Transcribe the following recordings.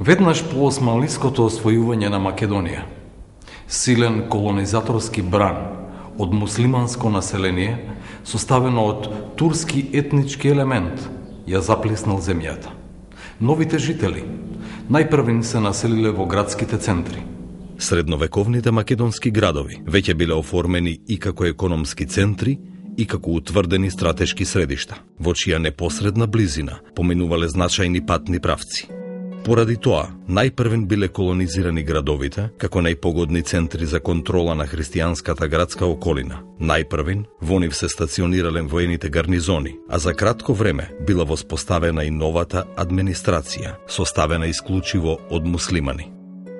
Веднаш по османлиското освојување на Македонија, силен колонизаторски бран од муслиманско население, составено од турски етнички елемент, ја заплеснал земјата. Новите жители најпрвин се населиле во градските центри. Средновековните македонски градови веќе биле оформени и како економски центри и како утврдени стратешки средишта, во чија непосредна близина поминувале значајни патни правци. Поради тоа, најпрвен биле колонизирани градовите како најпогодни центри за контрола на христијанската градска околина. Најпрвен во нив се стационирале воените гарнизони, а за кратко време била воспоставена и новата администрација, составена исклучиво од муслимани.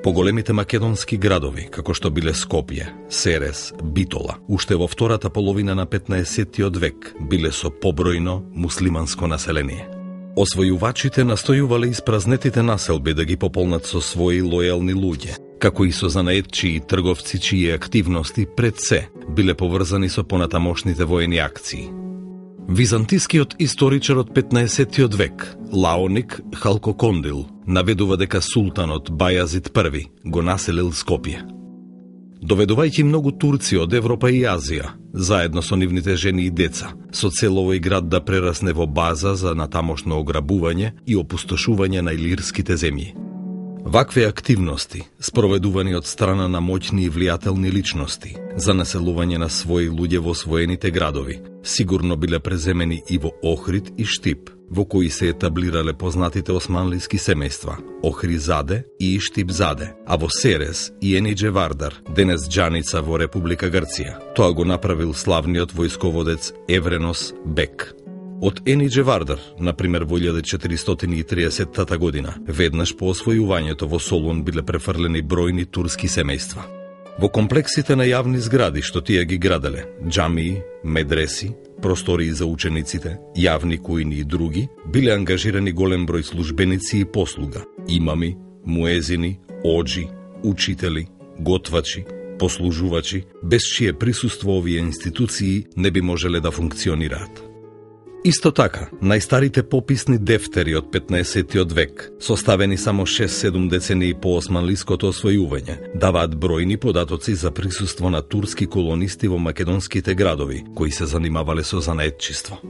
Поголемите македонски градови, како што биле Скопје, Серес, Битола, уште во втората половина на 15-тиот век биле со побројно муслиманско население. Освојувачите настојувале испразнетите населби да ги пополнат со своји лојални луѓе, како и со занаетчии и трговци чии активности пред се биле поврзани со понатамошните воени акции. Византискиот историчар од 15-тиот век, Лаоник Халкокондил, наведува дека султанот Бајазид I го населил Скопје. Доведувајќи многу турци од Европа и Азија, заедно со нивните жени и деца, со цел овој град да прерасне во база за натамошно ограбување и опустошување на илирските земји. Вакви активности, спроведувани од страна на моќни и влијателни личности за населување на своји луѓе во освоените градови, сигурно биле преземени и во Охрид и Штип, во кои се етаблирале познатите османлиски семејства Охризаде и Штипзаде, а во Серес и Енидже Вардар, денес Џаница во Република Грција. Тоа го направил славниот војсководец Евренос Бек. Од Енидже Вардар, например во 1430 година, веднаш по освојувањето во Солун биле префрлени бројни турски семејства. Во комплексите на јавни згради што тие ги граделе, џамии, медреси, простории за учениците, јавни кујни и други, биле ангажирани голем број службеници и послуга, имами, муезини, оџи, учители, готвачи, послужувачи, без чие присуство овие институции не би можеле да функционираат. Исто така, најстарите пописни дефтери од 15-тиот век, составени само 6-7 децении по османлиското освојување, даваат бројни податоци за присуство на турски колонисти во македонските градови, кои се занимавале со занаетчиство.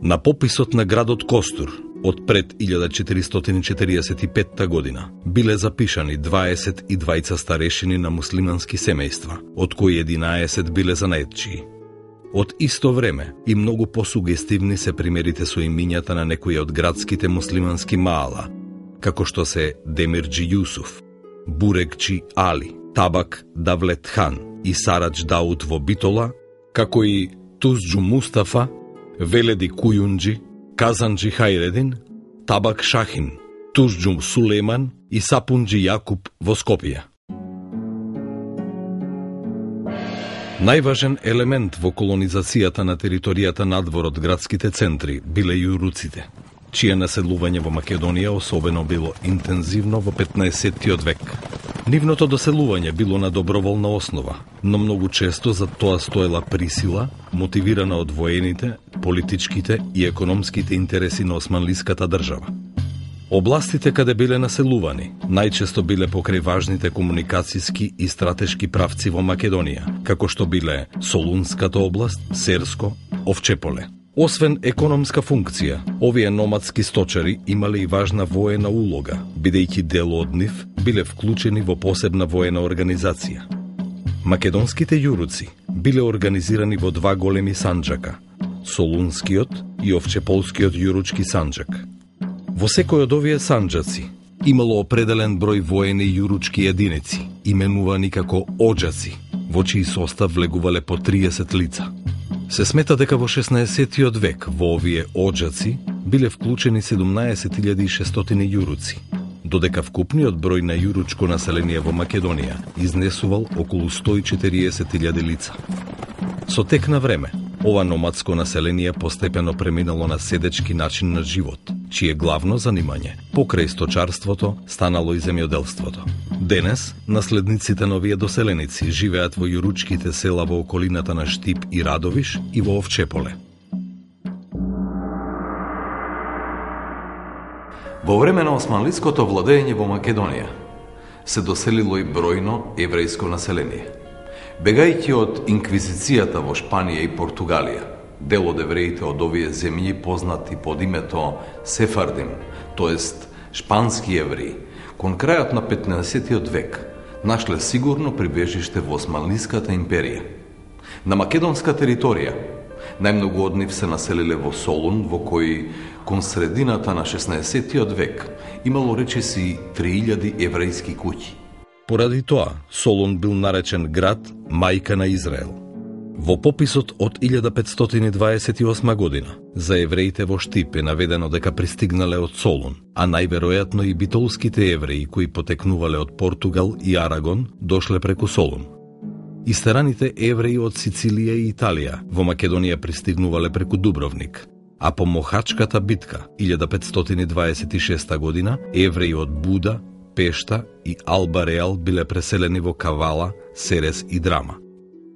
На пописот на градот Костур, од пред 1445 година, биле запишани 22 старешини на муслимански семејства, од кои 11 биле занаетчии. Од исто време и многу посугестивни се примерите со имињата на некои од градските муслимански маала, како што се Демирџи Јусуф, Бурекчи Али, Табак Давлет Хан и Сарадж Дауд во Битола, како и Тузџу Мустафа, Веледи Кујунџи, Казанџи Хајредин, Табак Шахин, Тузџу Сулейман и Сапунџи Јакуб во Скопје. Најважен елемент во колонизацијата на територијата надвор од градските центри биле јуруците, чие населување во Македонија особено било интензивно во 15-тиот век. Нивното доселување било на доброволна основа, но многу често за тоа стоела присила, мотивирана од воените, политичките и економските интереси на османлиската држава. Областите каде биле населувани најчесто биле покрај важните комуникацијски и стратешки правци во Македонија, како што биле Солунската област, Серско, Овчеполе. Освен економска функција, овие номадски сточари имале и важна воена улога, бидејќи дел од нив биле вклучени во посебна воена организација. Македонските јуруци биле организирани во два големи санџака, Солунскиот и Овчеполскиот јуручки санџак. Во секој од овие санџаци имало определен број воени јуручки единици, именувани како оџаци, во чиј состав влегувале по 30 лица. Се смета дека во 16-тиот век во овие оџаци биле вклучени 17.600 јуруци, додека вкупниот број на јуручко население во Македонија изнесувал околу 140.000 лица. Со тек на време, ова номадско население постепено преминало на седечки начин на живот, чие главно занимање, покрај сточарството, станало и земјоделството. Денес, наследниците на овие доселеници живеат во јуручките села во околината на Штип и Радовиш и во Овчеполе. Во време на османлиското владење во Македонија се доселило и бројно еврејско население. Бегајќи од инквизицијата во Шпанија и Португалија, дел од евреите од овие земји познати под името Сефардим, тоест шпански евреи, кон крајот на 15 век нашле сигурно прибежиште во Османлиската империја. На македонска територија најмногу од нив се населиле во Солун, во кој кон средината на 16 век имало речиси 3000 еврејски куќи. Поради тоа, Солун бил наречен град мајка на Израел. Во пописот од 1528 година за евреите во Штип е наведено дека пристигнале од Солун, а најверојатно и битолските евреи кои потекнувале од Португал и Арагон дошле преку Солун. Истераните евреи од Сицилија и Италија во Македонија пристигнувале преку Дубровник, а по Мохачката битка 1526 година евреи од Буда, Пешта и Алба Реал биле преселени во Кавала, Серес и Драма.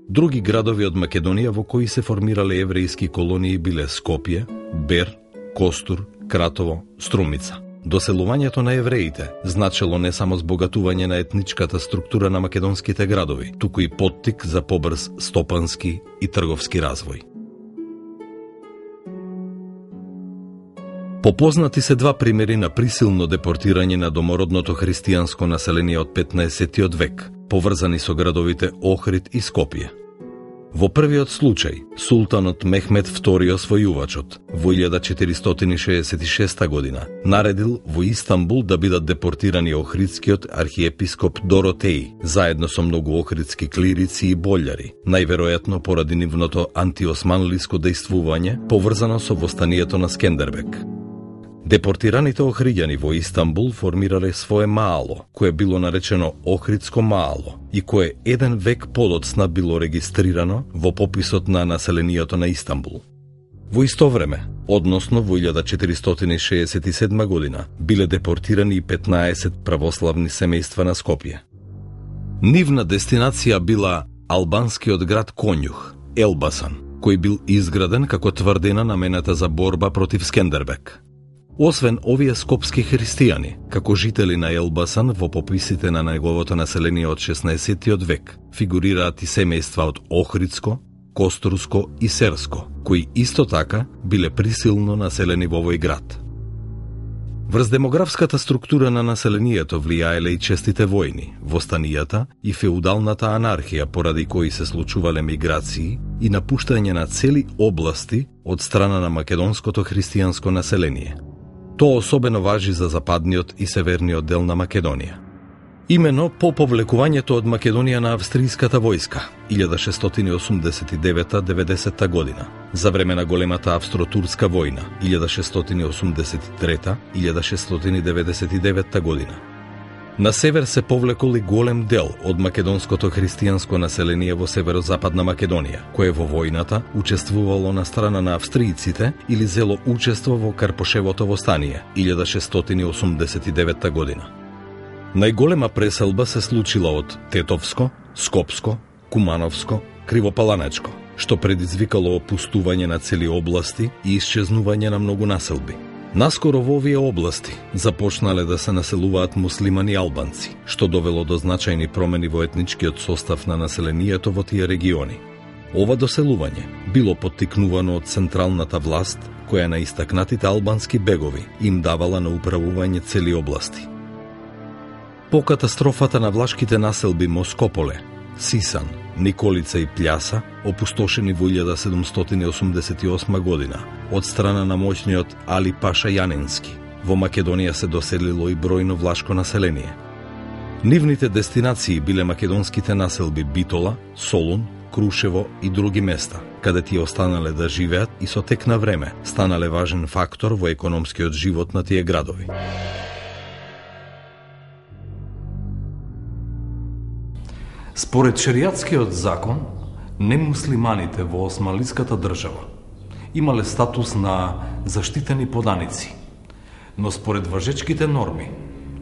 Други градови од Македонија во кои се формирале еврејски колонии биле Скопје, Бер, Костур, Кратово, Струмица. Доселувањето на евреите значело не само збогатување на етничката структура на македонските градови, туку и поттик за побрз стопански и трговски развој. Попознати се два примери на присилно депортирање на домородното христијанско население од 15 век, поврзани со градовите Охрид и Скопје. Во првиот случај, султанот Мехмед II освојувачот во 1466 година наредил во Истанбул да бидат депортирани охридскиот архиепископ Доротеј, заедно со многу охридски клирици и болјари, најверојатно поради нивното антиосманлиско дејствување поврзано со востанието на Скендербек. Депортираните охриѓани во Истанбул формирале свое маало, кое било наречено Охридско маало и кое еден век подоцна било регистрирано во пописот на населението на Истанбул. Во исто време, односно во 1467 година, биле депортирани и 15 православни семејства на Скопје. Нивна дестинација била албанскиот град Конјух, Елбасан, кој бил изграден како тврдина намената за борба против Скендербек. Освен овие скопски христијани, како жители на Елбасан во пописите на неговото население од 16 век, фигурираат и семејства од Охридско, Костурско и Серско, кои исто така биле присилно населени во овој град. Врз демографската структура на населението влијаеле и честите војни, востанијата и феудалната анархија поради кои се случувале миграции и напуштање на цели области од страна на македонското христијанско население. Тоа особено важи за западниот и северниот дел на Македонија. Имено по повлекувањето од Македонија на австријската војска 1689-90 година, за време на големата австро-турска војна 1683-1699 година. На север се повлекол и голем дел од македонското христијанско население во северозападна Македонија, кое во војната учествувало на страна на австријците или зело учество во Карпошевото востание 1689 година. Најголема преселба се случила од Тетовско, Скопско, Кумановско, Кривопаланечко, што предизвикало опустување на цели области и исчезнување на многу населби. Наскоро во овие области започнале да се населуваат муслимани албанци, што довело до значајни промени во етничкиот состав на населението во тие региони. Ова доселување било поттикнувано од централната власт, која на истакнатите албански бегови им давала на управување цели области. По катастрофата на влашките населби Москополе, Сисан, Николица и Пљаса, опустошени во 1788 година од страна на моќниот Али Паша Јанински, во Македонија се доселило и бројно влашко население. Нивните дестинации биле македонските населби Битола, Солун, Крушево и други места, каде тие останале да живеат и со тек на време станале важен фактор во економскиот живот на тие градови. Според шеријатскиот закон, немуслиманите во османлиската држава имале статус на заштитени поданици, но според важечките норми,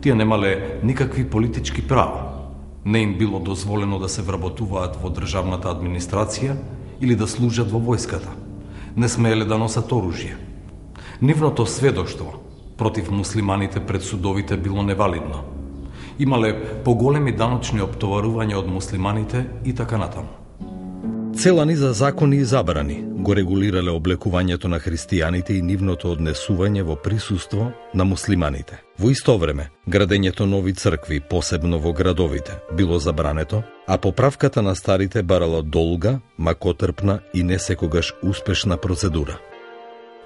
тие немале никакви политички права. Не им било дозволено да се вработуваат во државната администрација или да служат во војската. Не смееле да носат оружје. Нивното сведоштво против муслиманите пред судовите било невалидно. Имале поголеми даночни оптоварувања од муслиманите и така натаму. Цела низа закони и забрани го регулирале облекувањето на христијаните и нивното однесување во присуство на муслиманите. Во исто време, градењето нови цркви, посебно во градовите, било забрането, а поправката на старите барала долга, макотрпна и не секогаш успешна процедура.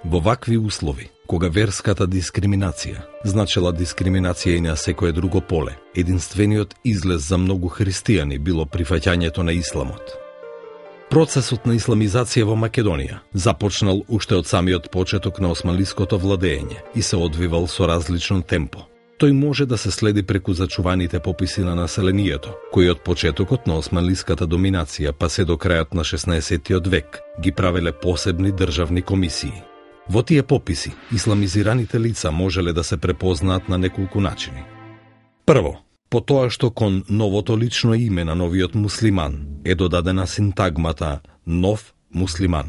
Во вакви услови, кога верската дискриминација значела дискриминација и на секое друго поле, единствениот излез за многу христијани било прифаќањето на исламот. Процесот на исламизација во Македонија започнал уште од самиот почеток на османлиското владење и се одвивал со различно темпо. Тој може да се следи преку зачуваните пописи на населението, кои од почетокот на османлиската доминација па се до крајот на 16-тиот век ги правеле посебни државни комисии. Во тие пописи, исламизираните лица можеле да се препознаат на неколку начини. Прво, по тоа што кон новото лично име на новиот муслиман е додадена синтагмата «нов муслиман».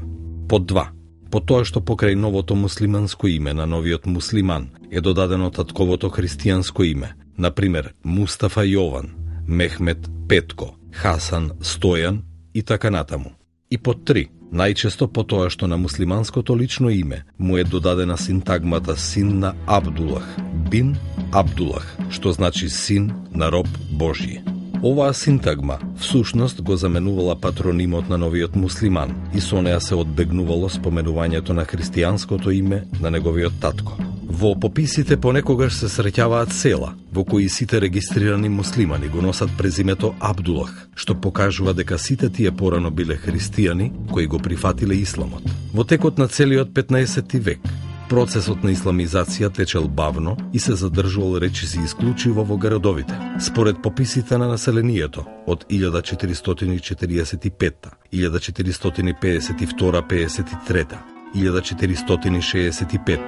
Под два, по тоа што покрај новото муслиманско име на новиот муслиман е додадено татковото христијанско име, например Мустафа Јован, Мехмет Петко, Хасан Стојан и така натаму. И под три, најчесто по тоа што на муслиманското лично име му е додадена синтагмата син на Абдулах, бин Абдулах, што значи син на роб Божји. Оваа синтагма всушност го заменувала патронимот на новиот муслиман и со неа се одбегнувало споменувањето на христијанското име на неговиот татко. Во пописите понекогаш се среќаваат села во кои сите регистрирани муслимани го носат презимето Абдулах, што покажува дека сите тие порано биле христијани кои го прифатиле исламот. Во текот на целиот 15 век процесот на исламизација течел бавно и се задржувал речиси исклучиво во градовите. Според пописите на населението од 1445, 1452-53, 1465,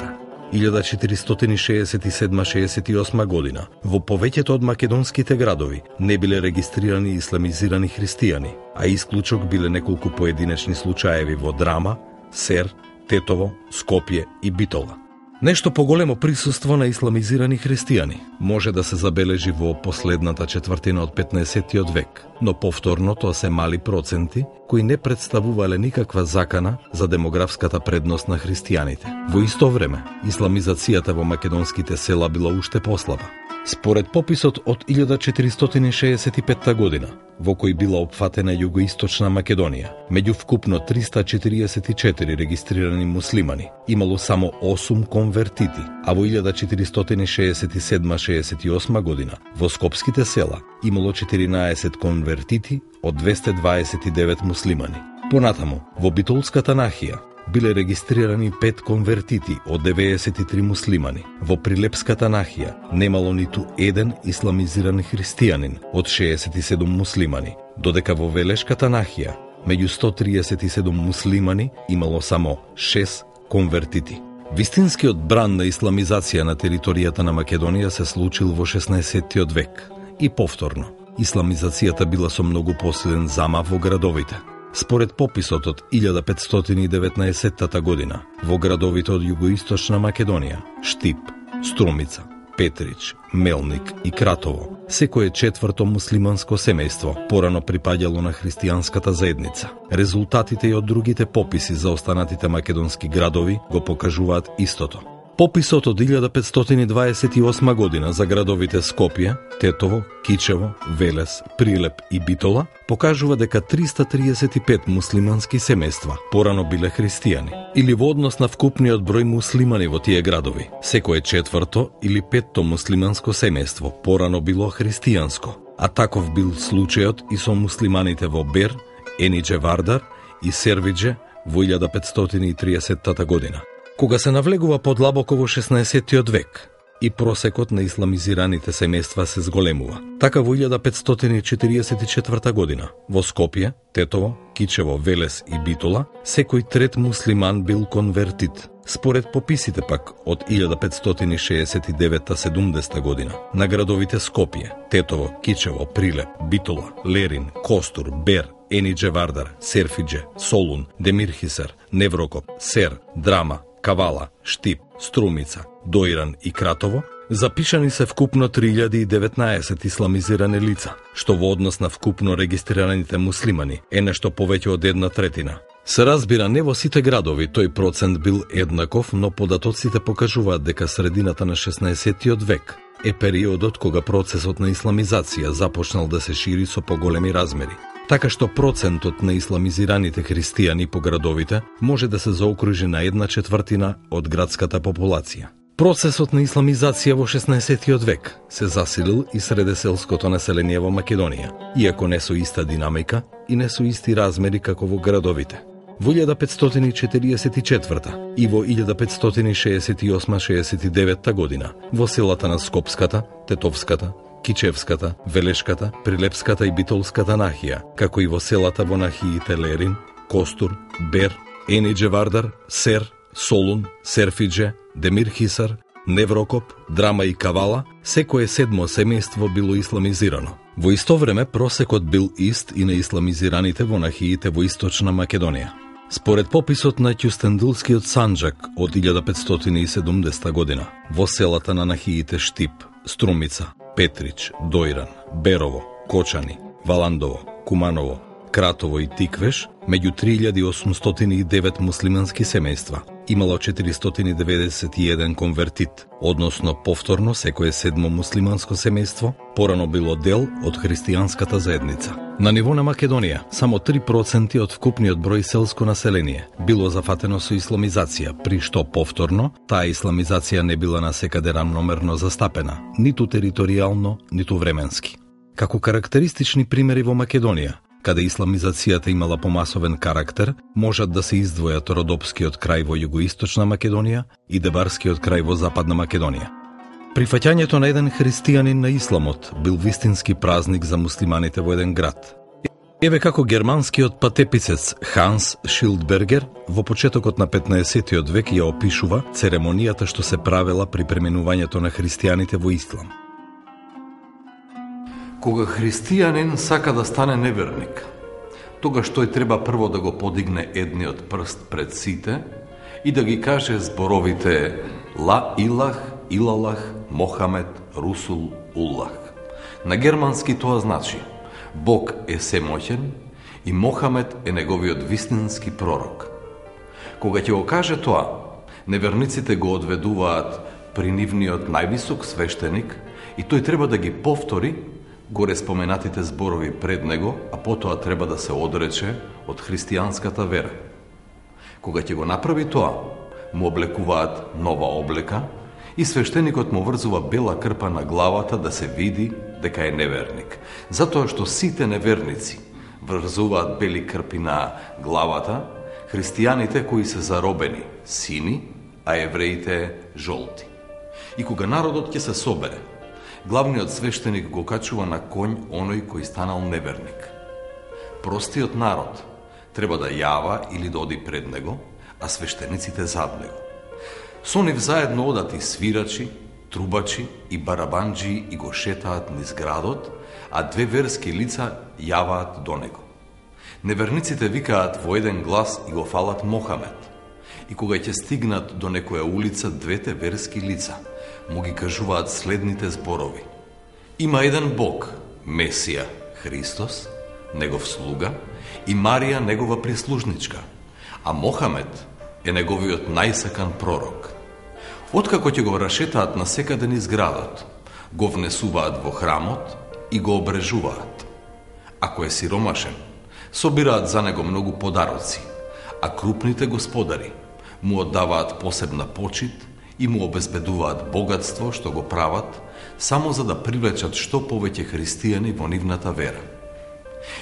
1467-68 година, во повеќето од македонските градови не биле регистрирани исламизирани христијани, а исклучок биле неколку поединечни случаеви во Драма, Сер, Тетово, Скопје и Битола. Нешто поголемо присуство на исламизирани христијани може да се забележи во последната четвртина од 15-тиот век, но повторно тоа се мали проценти кои не представувале никаква закана за демографската предност на христијаните. Во исто време, исламизацијата во македонските села била уште послаба. Според пописот од 1465 година, во кој била опфатена југоисточна Македонија, меѓу вкупно 344 регистрирани муслимани, имало само 8 конвертити, а во 1467-68 година во скопските села имало 14 конвертити од 229 муслимани. Понатаму, во Битолската нахија биле регистрирани 5 конвертити од 93 муслимани. Во Прилепската нахија немало ниту еден исламизиран христијанин од 67 муслимани, додека во Велешката нахија меѓу 137 муслимани имало само 6 конвертити. Вистинскиот бран на исламизација на територијата на Македонија се случил во 16-тиот век и повторно. Исламизацијата била со многу посилен замав во градовите. Според пописот од 1519 година, во градовите од југоисточна Македонија, Штип, Струмица, Петрич, Мелник и Кратово, секое четврто муслиманско семејство порано припаѓало на христијанската заедница. Резултатите и од другите пописи за останатите македонски градови го покажуваат истото. Пописот од 1528 година за градовите Скопје, Тетово, Кичево, Велес, Прилеп и Битола покажува дека 335 муслимански семејства порано биле христијани, или во однос на вкупниот број муслимани во тие градови. Секое четврто или петто муслиманско семејство порано било христијанско, а таков бил случајот и со муслиманите во Бер, Енидже Вардар и Сервидже во 1530 година. Кога се навлегува подлабоко во 16-тиот век и просекот на исламизираните семејства се зголемува. Така во 1544 година во Скопје, Тетово, Кичево, Велес и Битола секој трет муслиман бил конвертит. Според пописите пак од 1569-70 година на градовите Скопје, Тетово, Кичево, Прилеп, Битола, Лерин, Костур, Бер, Енидже Вардар, Серфидже, Солун, Демирхисар, Неврокоп, Сер, Драма, Кавала, Штип, Струмица, Доиран и Кратово, запишани се вкупно 3019 исламизирани лица, што во однос на вкупно регистрираните муслимани е нешто повеќе од 1/3. Се разбира, не во сите градови тој процент бил еднаков, но податоците покажуваат дека средината на 16-тиот век е периодот кога процесот на исламизација започнал да се шири со поголеми размери. Така што процентот на исламизираните христијани по градовите може да се заокружи на 1/4 од градската популација. Процесот на исламизација во 16-тиот век се засилил и среде селското население во Македонија, иако не со иста динамика и не со исти размери како во градовите. Во 1544 и во 1568-69 година во селата на Скопската, Тетовската, Кичевската, Велешката, Прилепската и Битолската нахија, како и во селата во нахиите Лерин, Костур, Бер, Енидже Вардар, Сер, Солун, Серфидже, Демир Хисар, Неврокоп, Драма и Кавала, секое 7 семејство било исламизирано. Во исто време просекот бил ист и на исламизираните во нахиите во Источна Македонија. Според пописот на Ќустендилскиот Санџак од 1570 година, во селата на нахиите Штип, Струмица, Петрич, Доиран, Берово, Кочани, Валандово, Куманово, Кратово и Тиквеш, меѓу 3809 муслимански семејства, имало 491 конвертит, односно повторно секое 7 муслиманско семејство порано било дел од христијанската заедница. На ниво на Македонија, само 3% од вкупниот број селско население било зафатено со исламизација, при што повторно таа исламизација не била насекаде рамномерно застапена, ниту територијално, ниту временски. Како карактеристични примери во Македонија, каде исламизацијата имала помасовен карактер, можат да се издвојат Родопскиот крај во југоисточна Македонија и Дебарскиот крај во западна Македонија. Прифаќањето на еден христијанин на исламот бил вистински празник за муслиманите во еден град. Еве како германскиот патеписец Ханс Шилдбергер во почетокот на 15-тиот век ја опишува церемонијата што се правела при преминувањето на христијаните во ислам. Кога христијанин сака да стане неверник, тогаш тој треба прво да го подигне едниот прст пред сите и да ги каже зборовите Ла Илах, Илалах, Мохамед, Русул, Уллах. На германски тоа значи Бог е семоќен и Мохамед е неговиот вистински пророк. Кога ќе го каже тоа, неверниците го одведуваат при нивниот највисок свештеник и тој треба да ги повтори горе споменатите зборови пред него, а потоа треба да се одрече од христијанската вера. Кога ќе го направи тоа, му облекуваат нова облека и свештеникот му врзува бела крпа на главата да се види дека е неверник. Затоа што сите неверници врзуваат бели крпи на главата, христијаните кои се заробени сини, а евреите жолти. И кога народот ќе се собере, главниот свештеник го качува на конј оној кој станал неверник. Простиот народ треба да јава или да оди пред него, а свештениците зад него. Со нив заедно одат и свирачи, трубачи и барабанџи и го шетаат низ градот, а две верски лица јаваат до него. Неверниците викаат во еден глас и го фалат Мохамед. И кога ќе стигнат до некоја улица, двете верски лица му ги кажуваат следните зборови. Има еден Бог, Месија, Христос, негов слуга, и Марија, негова прислужничка, а Мохамед е неговиот најсакан пророк. Откако ќе го рашетаат на секаде низ градот, го внесуваат во храмот и го обрежуваат. Ако е сиромашен, собираат за него многу подароци, а крупните господари му оддаваат посебна почит и му обезбедуваат богатство што го прават само за да привлечат што повеќе христијани во нивната вера.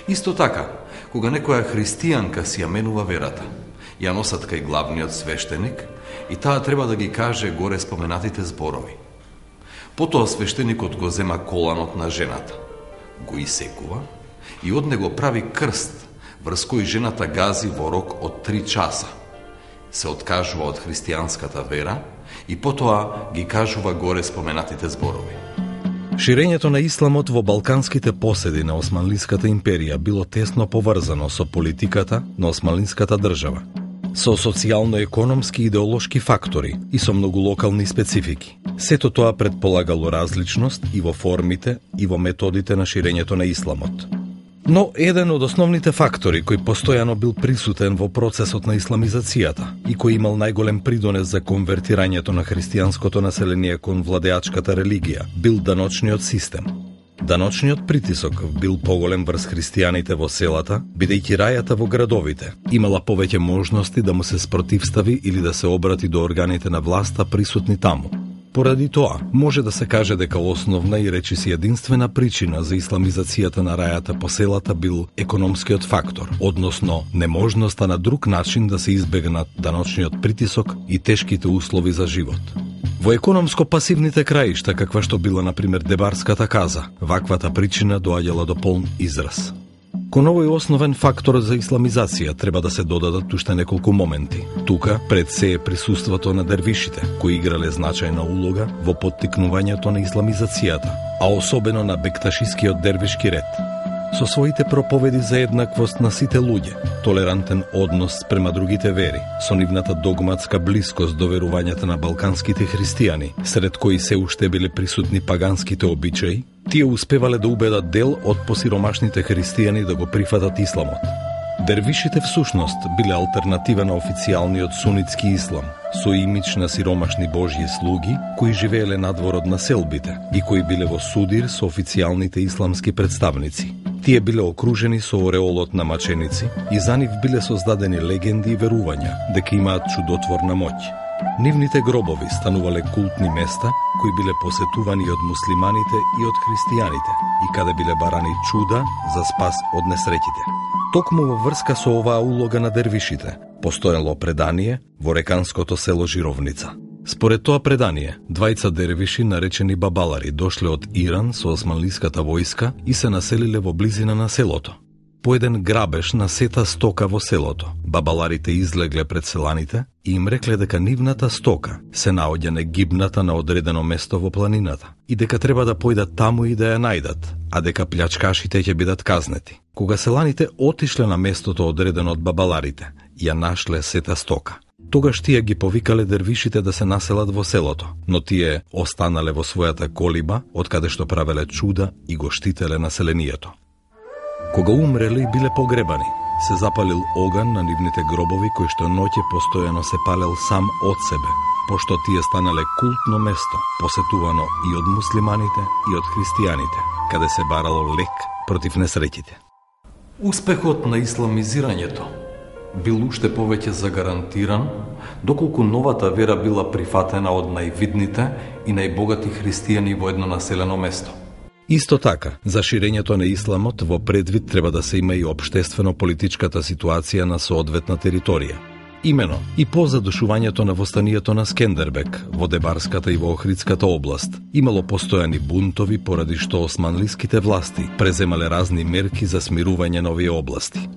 Исто така, кога некоја христијанка си ја менува верата, ја носат кај главниот свештеник и таа треба да ги каже горе споменатите зборови. Потоа свештеникот го зема коланот на жената, го исекува и од него прави крст, врз кој жената гази во рок од 3 часа. Се откажува од христијанската вера и потоа ги кажува горе споменатите зборови. Ширењето на исламот во балканските поседи на Османлиската империја било тесно поврзано со политиката на Османлиската држава. со социјално-економски и идеолошки фактори и со многу локални специфики. Сето тоа предполагало различност и во формите и во методите на ширењето на исламот. Но еден од основните фактори кој постојано бил присутен во процесот на исламизацијата и кој имал најголем придонес за конвертирањето на христијанското население кон владеачката религија бил даночниот систем. Даночниот притисок бил поголем врз христијаните во селата, бидејќи рајата во градовите имала повеќе можности да му се спротивстави или да се обрати до органите на власта присутни таму. Поради тоа, може да се каже дека основна и речиси единствена причина за исламизацијата на рајата по селата бил економскиот фактор, односно неможноста на друг начин да се избегнат даночниот притисок и тешките услови за живот. Во економско-пасивните краишта, каква што била, например, Дебарската каза, ваквата причина доаѓала до полн израз. Кон овој основен фактор за исламизација треба да се додадат уште неколку моменти. Тука пред се е присуството на дервишите, кои играле значајна улога во поттикнувањето на исламизацијата, а особено на бекташискиот дервишки ред. Со своите проповеди за еднаквост на сите луѓе, толерантен однос спрема другите вери, со нивната догматска блискост до верувањата на балканските христијани, сред кои се уште биле присутни паганските обичаи, тие успевале да убедат дел од посиромашните христијани да го прифатат исламот. Дервишите всушност биле алтернатива на официјалниот сунитски ислам, со имидж на сиромашни божји слуги, кои живееле надвор од населбите и кои биле во судир со официјалните исламски представници. Тие биле окружени со ореолот на маченици и за нив биле создадени легенди и верувања дека имаат чудотворна моќ. Нивните гробови станувале култни места кои биле посетувани од муслиманите и од христијаните и каде биле барани чуда за спас од несреќите. Токму во врска со оваа улога на дервишите, постоело предание во реканското село Жировница. Според тоа предание, двајца дервиши наречени бабалари дошле од Иран со османлиската војска и се населиле во близина на селото. По еден грабеж на сета стока во селото, бабаларите излегле пред селаните и им рекле дека нивната стока се наоѓа негибната на одредено место во планината и дека треба да појдат таму и да ја најдат, а дека плячкашите ќе бидат казнети. Кога селаните отишле на местото одредено од бабаларите, ја нашле сета стока. Тогаш тие ги повикале дервишите да се населат во селото, но тие останале во својата колиба, од каде што правеле чуда и го штителе населението. Кога умреле и биле погребани, се запалил оган на нивните гробови кој што ноќе постојано се палел сам од себе, пошто тие станале култно место, посетувано и од муслиманите и од христијаните, каде се барало лек против несреќите. Успехот на исламизирањето бил уште повеќе загарантиран, доколку новата вера била прифатена од највидните и најбогати христијани во едно населено место. Исто така, за ширењето на исламот во предвид треба да се има и општествено-политичката ситуација на соодветна територија. Имено, и по задушувањето на востанието на Скендербек во Дебарската и во Охридската област, имало постојани бунтови поради што османлиските власти преземале разни мерки за смирување на овие области.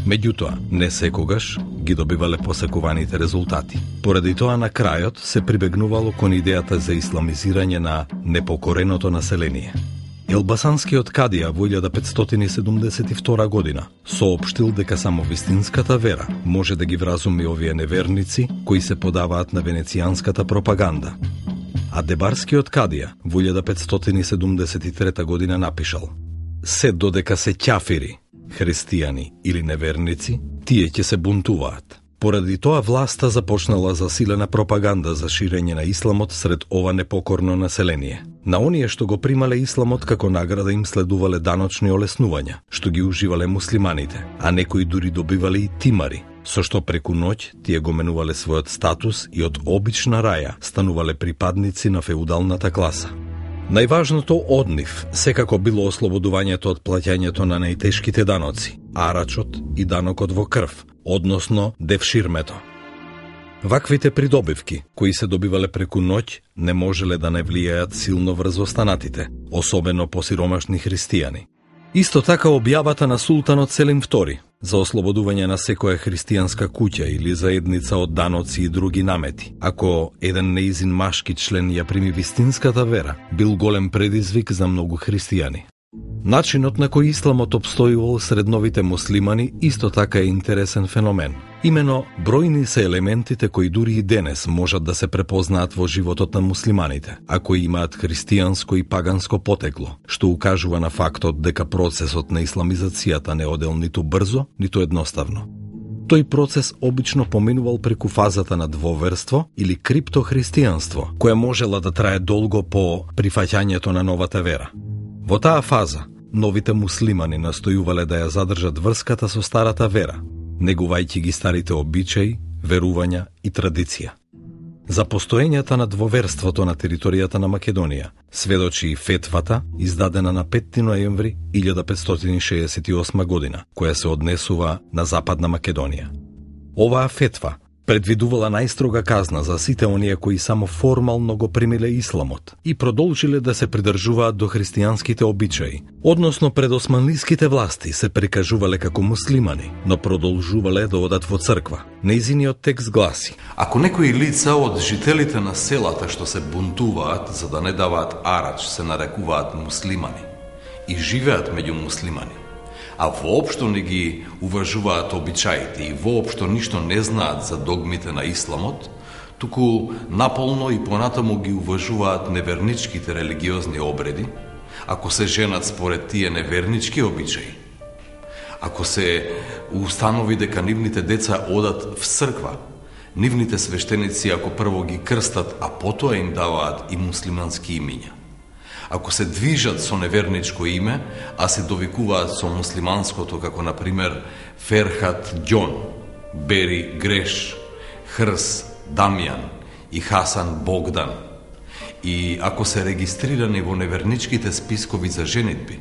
Меѓутоа, не секогаш ги добивале посакуваните резултати. Поради тоа на крајот се прибегнувало кон идејата за исламизирање на непокореното население. Елбасанскиот кадија во 1572 година соопштил дека само вистинската вера може да ги вразуми овие неверници кои се подаваат на венецијанската пропаганда. А Дебарскиот кадија во 1573 година напишал: се додека се ќафири, христијани или неверници, тие ќе се бунтуваат. Поради тоа власта започнала засилена пропаганда за ширење на исламот сред ова непокорно население. На оние што го примале исламот како награда им следувале даночни олеснувања, што ги уживале муслиманите, а некои дури добивале и тимари, со што преку ноќ тие го менувале својот статус и од обична раја станувале припадници на феудалната класа. Најважното од нив секако било ослободувањето од плаќањето на најтешките даноци, арачот и данокот во крв, односно девширмето. Ваквите придобивки, кои се добивале преку ноќ, не можеле да не влијаат силно врз останатите, особено посиромашни христијани. Исто така објавата на султанот Селим II за ослободување на секоја христијанска куќа или заедница од даноци и други намети, ако еден неизин машки член ја прими вистинската вера, бил голем предизвик за многу христијани. Начинот на кој исламот обстојувал сред новите муслимани исто така е интересен феномен. Имено, бројни се елементите кои дури и денес можат да се препознаат во животот на муслиманите, а кои имаат христијанско и паганско потекло, што укажува на фактот дека процесот на исламизацијата не одел ниту брзо, ниту едноставно. Тој процес обично поминувал преку фазата на двоверство или криптохристијанство, која можела да трае долго по прифаќањето на новата вера. Во таа фаза, новите муслимани настојувале да ја задржат врската со старата вера, негувајќи ги старите обичаи, верувања и традиција. За постоењето на двоверството на територијата на Македонија сведочи и фетвата, издадена на 5 ноември 1568 година, која се однесува на Западна Македонија. Оваа фетва предвидувала најстрога казна за сите оние кои само формално го примиле исламот и продолжиле да се придржуваат до христијанските обичаи, односно пред османлиските власти се прикажувале како муслимани, но продолжувале да одат во црква. Нејзиниот текст гласи: Ако некои лица од жителите на селата што се бунтуваат за да не даваат арач се нарекуваат муслимани и живеат меѓу муслимани, а воопшто не ги уважуваат обичаите и воопшто ништо не знаат за догмите на исламот, туку наполно и понатаму ги уважуваат неверничките религиозни обреди, ако се женат според тие невернички обичаи, ако се установи дека нивните деца одат в црква, нивните свештеници ако прво ги крстат, а потоа им даваат и муслимански имиња, ако се движат со неверничко име, а се довикуваат со муслиманското, како например Ферхат Ѓон, Бери Греш, Хрс Дамјан и Хасан Богдан, и ако се регистрирани во неверничките спискови за женитби,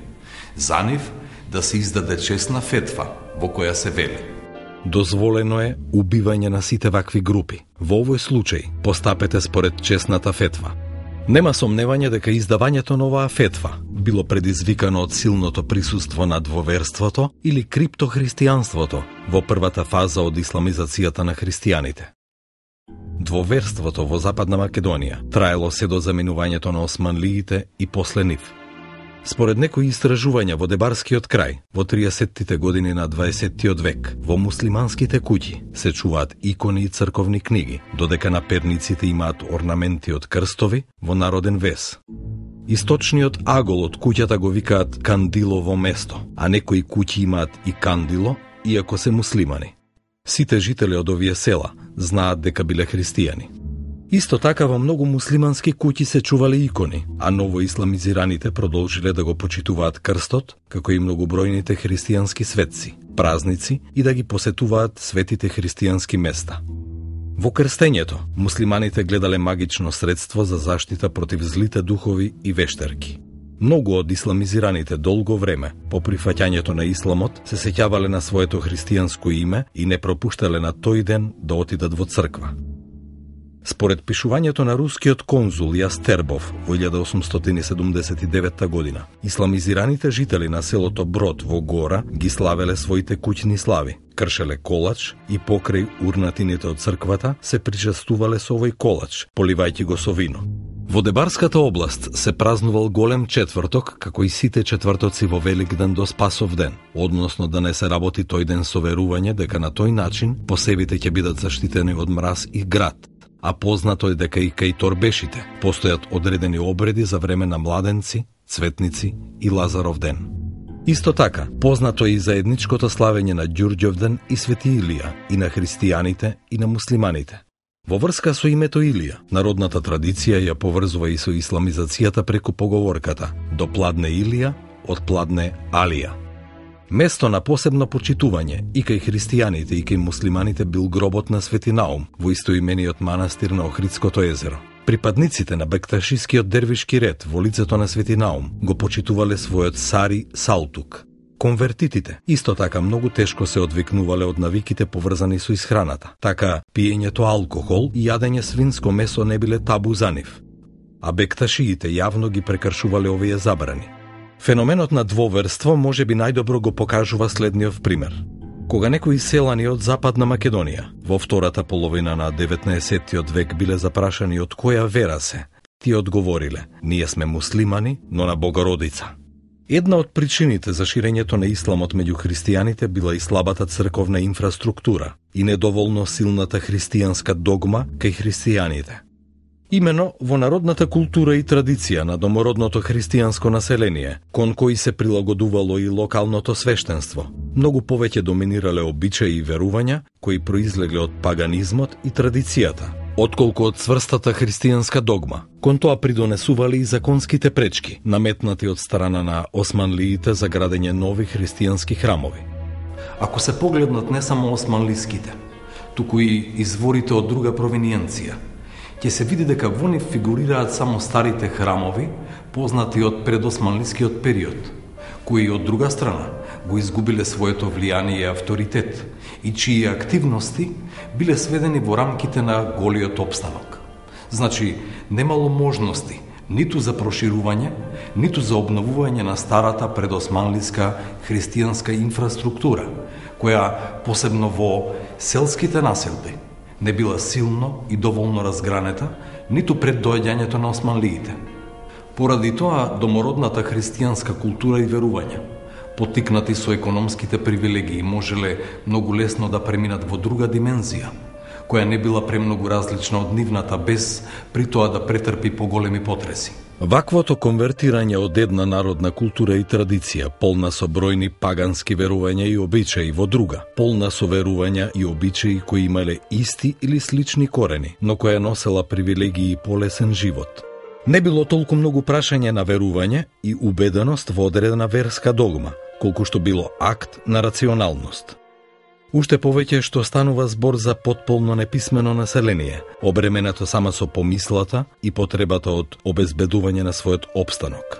за нив да се издаде честна фетва во која се вели: Дозволено е убивање на сите вакви групи. Во овој случај постапете според честната фетва. Нема сомневање дека издавањето на оваа фетва било предизвикано од силното присуство на двоверството или криптохристијанството во првата фаза од исламизацијата на христијаните. Двоверството во Западна Македонија траело се до заминувањето на османлиите и после нив. Според некои истражувања во Дебарскиот крај, во 30-тите години на 20-тиот век, во муслиманските куќи се чуваат икони и црковни книги, додека на перниците имаат орнаменти од крстови во народен вес. Источниот агол од куќата го викаат кандилово место, а некои куќи имаат и кандило, иако се муслимани. Сите жители од овие села знаат дека биле христијани. Исто така во многу муслимански куќи се чувале икони, а новоисламизираните продолжиле да го почитуваат крстот, како и многобројните христијански светци, празници и да ги посетуваат светите христијански места. Во крстењето, муслиманите гледале магично средство за заштита против злите духови и вештерки. Многу од исламизираните долго време, по прифаќањето на исламот, се сеќавале на своето христијанско име и не пропуштале на тој ден да отидат во црква. Според пишувањето на рускиот конзул Јастербов во 1879 година, исламизираните жители на селото Брод во Гора ги славеле своите куќни слави, кршеле колач и покрај урнатините од црквата се причестувале со овој колач, поливајќи го со вино. Во Дебарската област се празнувал голем четврток, како и сите четвртоци во Великден до Спасов ден, односно да не се работи тој ден со верување дека на тој начин посебите ќе бидат заштитени од мраз и град, а познато е дека и кај торбешите постојат одредени обреди за време на младенци, цветници и Лазаров ден. Исто така, познато е и заедничкото славење на Ѓурѓовден и Свети Илија и на христијаните и на муслиманите. Во врска со името Илија, народната традиција ја поврзува и со исламизацијата преку поговорката «До пладне Илија, од пладне Алија». Место на посебно почитување и кај христијаните и кај муслиманите бил гробот на Свети Наум во истоимениот манастир на Охридското езеро. Припадниците на бекташискиот дервишки ред во лицето на Свети Наум го почитувале својот Сари Салтук. Конвертитите исто така многу тешко се одвикнувале од навиките поврзани со исхраната. Така, пиењето алкохол и јадење свинско месо не биле табу за нив. А бекташиите јавно ги прекршувале овие забрани. Феноменот на двоверство може би најдобро го покажува следниот пример. Кога некои селани од Западна Македонија во втората половина на 19-тиот век биле запрашани од која вера се, тие одговориле: ние сме муслимани, но на Богородица. Една од причините за ширењето на исламот меѓу христијаните била и слабата црковна инфраструктура и недоволно силната христијанска догма кај христијаните. Имено во народната култура и традиција на домородното христијанско население, кон кои се прилагодувало и локалното свештенство, многу повеќе доминирале обичаи и верувања кои произлегле од паганизмот и традицијата, отколку од цврстата христијанска догма. Кон тоа придонесували и законските пречки, наметнати од страна на османлиите за градење нови христијански храмови. Ако се погледнат не само османлиските, туку и изворите од друга провиниенција, ќе се види дека во нив фигурираат само старите храмови, познати од предосманлискиот период, кои од друга страна го изгубиле своето влијание и авторитет и чии активности биле сведени во рамките на голиот опстанок. Значи, немало можности ниту за проширување, ниту за обновување на старата предосманлиска христијанска инфраструктура, која посебно во селските населби не била силно и доволно разгранета, ниту пред доаѓањето на османлиите. Поради тоа, домородната христијанска култура и верувања, поттикнати со економските привилегии, можеле многу лесно да преминат во друга димензија, која не била премногу различна од нивната, без при тоа да претрпи поголеми потреси. Ваквото конвертирање од една народна култура и традиција, полна со бројни пагански верувања и обичаи, во друга, полна со верувања и обичаи кои имале исти или слични корени, но која носела привилегии и полесен живот. Не било толку многу прашање на верување и убеденост во одредена верска догма, колку што било акт на рационалност. Уште повеќе што станува збор за потполно неписмено население, обременето само со помислата и потребата од обезбедување на својот опстанок.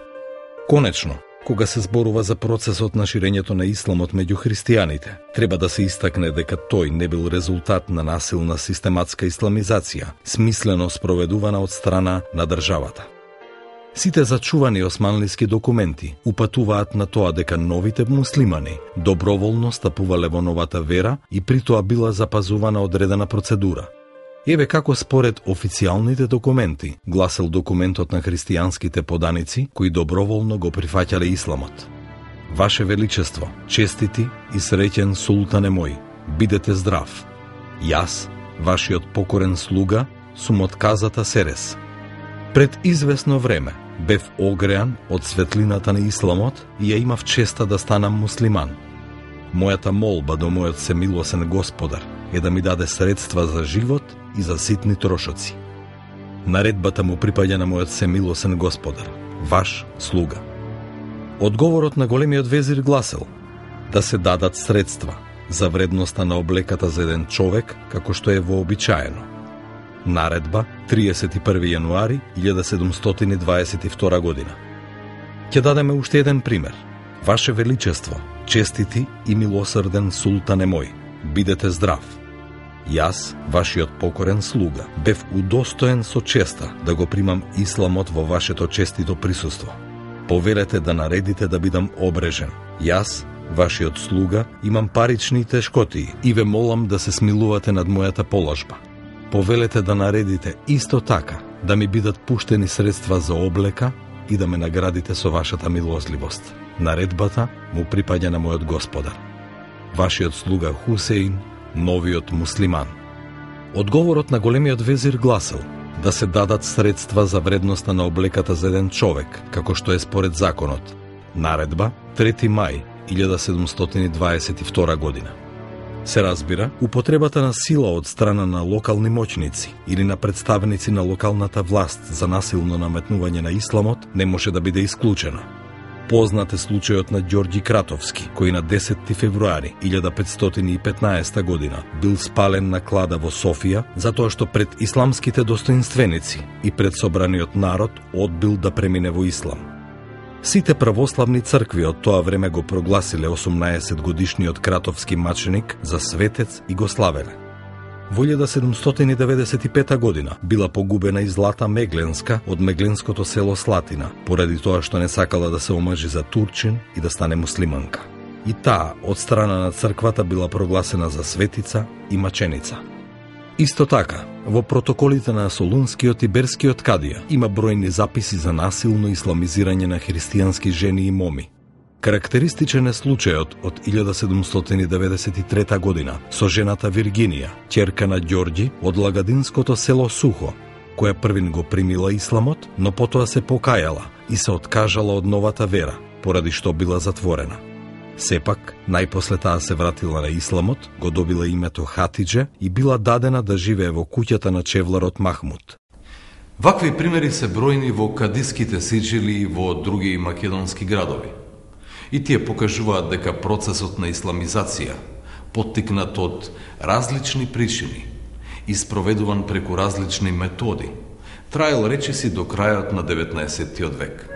Конечно, кога се зборува за процесот на ширењето на исламот меѓу христијаните, треба да се истакне дека тој не бил резултат на насилна систематска исламизација, смислено спроведувана од страна на државата. Сите зачувани османлиски документи упатуваат на тоа дека новите муслимани доброволно стапувале во новата вера и при тоа била запазувана одредена процедура. Еве како според официјалните документи гласел документот на христијанските поданици кои доброволно го прифаќале исламот. Ваше Величество, честити и среќен султане мој, бидете здрав. Јас, вашиот покорен слуга, сум од казата Серес. Пред известно време бев огреан од светлината на исламот и ја имав честа да станам муслиман. Мојата молба до мојот семилосен Господар е да ми даде средства за живот и за ситни трошоци. Наредбата му припаѓа на мојот семилосен Господар, ваш слуга. Одговорот на големиот везир гласел да се дадат средства за вредноста на облеката за еден човек, како што е вообичаено. Наредба 31 јануари 1722 година. Ќе дадеме уште еден пример. Ваше Величество, честити и милосрден султане мој, бидете здрав. Јас, вашиот покорен слуга, бев удостоен со честа да го примам исламот во вашето честито присуство. Повелете да наредите да бидам обрежен. Јас, вашиот слуга, имам парични тешкотии и ве молам да се смилувате над мојата положба. Повелете да наредите исто така да ми бидат пуштени средства за облека и да ме наградите со вашата милосливост. Наредбата му припаѓа на мојот Господар. Вашиот слуга Хусеин, новиот муслиман. Одговорот на големиот везир гласел да се дадат средства за вредноста на облеката за еден човек, како што е според законот. Наредба 3 мај 1722 година. Се разбира, употребата на сила од страна на локални моќници или на представници на локалната власт за насилно наметнување на исламот не може да биде исклучена. Познат е случајот на Ѓорѓи Кратовски, кој на 10 февруари 1515 година бил спален на клада во Софија затоа што пред исламските достоинственици и пред собраниот народ одбил да премине во ислам. Сите православни цркви од тоа време го прогласиле 18-годишниот Кратовски маченик за светец и го славеле. Во 1795 година била погубена и Злата Мегленска од мегленското село Слатина, поради тоа што не сакала да се омажи за турчин и да стане муслиманка. И таа од страна на црквата била прогласена за светица и маченица. Исто така, во протоколите на Солунскиот и Берскиот кадија има бројни записи за насилно исламизирање на христијански жени и моми. Карактеристичен е случајот од 1793 година со жената Виргинија, ќерка на Ѓорѓи од лагадинското село Сухо, која првин го примила исламот, но потоа се покајала и се откажала од новата вера, поради што била затворена. Сепак, најпосле таа се вратила на исламот, го добила името Хатидже и била дадена да живее во куќата на чевларот Махмуд. Вакви примери се бројни во кадиските сиџили и во други македонски градови. И тие покажуваат дека процесот на исламизација, поттикнат од различни причини и спроведуван преку различни методи, траел речиси до крајот на 19. век.